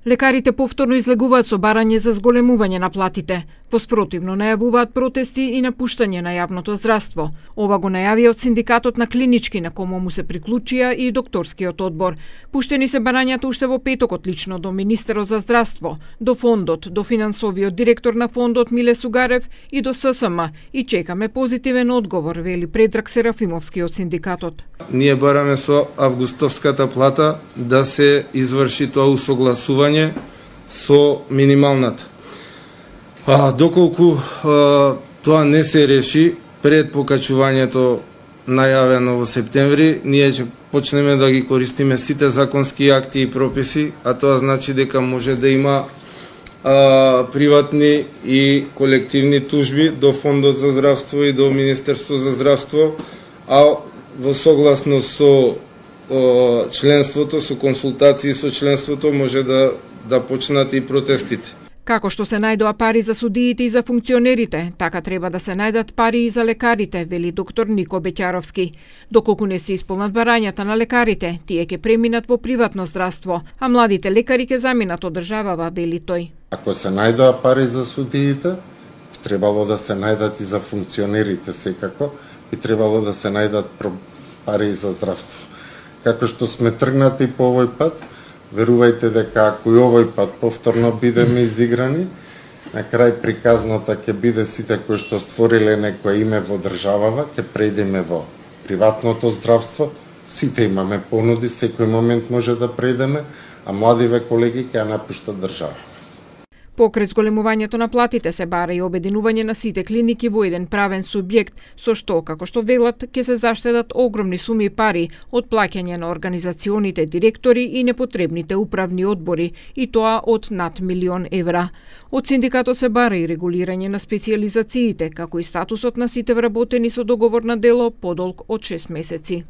Лекарите повторно излегуваат со барање за зголемување на платите. Воспротивно најавуваат протести и напуштање на јавното здравство. Ова го најавија од синдикатот на клинички, на кому му се приклучија и докторскиот одбор. Пуштени се барањата уште во петокот лично до министерот за здравство, до фондот, до финансовиот директор на фондот Миле Сугарев и до ССМ, и чекаме позитивен одговор, вели Предраг Серафимовски од синдикатот. Ние бараме со августовската плата да се изврши тоа усогласување со минималната. Доколку тоа не се реши пред покачувањето најавено во септември, ние ќе почнеме да ги користиме сите законски акти и прописи, а тоа значи дека може да има приватни и колективни тужби до Фондот за здравство и до Министерство за здравство, а во согласност со членството, со консултации со членството, може да почнат и протестите. Како што се најдоа пари за судиите и за функционерите, така треба да се најдат пари и за лекарите, вели доктор Нико Беќаровски. Доколку не се исполнат барањата на лекарите, тие ќе преминат во приватно здравство, а младите лекари ќе заминат од државава, вели тој. Ако се најдоа пари за судиите, би требало да се најдат и за функционерите секако, би требало да се најдат пари и за здравство. Како што сме тргнати по овој пат, верувајте дека ако и овој пат повторно бидеме изиграни, на крај приказната ќе биде сите кои што створиле некое име во државава, ќе преидеме во приватното здравство, сите имаме понуди, секој момент може да преидеме, а младиве колеги ќе напуштат држава. Покрај зголемувањето на платите се бара и обединување на сите клиники во еден правен субјект, со што, како што велат, ќе се заштедат огромни суми пари од плаќање на организационите директори и непотребните управни одбори, и тоа од над 1 милион евра. Од синдикатот се бара и регулирање на специјализациите, како и статусот на сите вработени со договор на дело подолг од 6 месеци.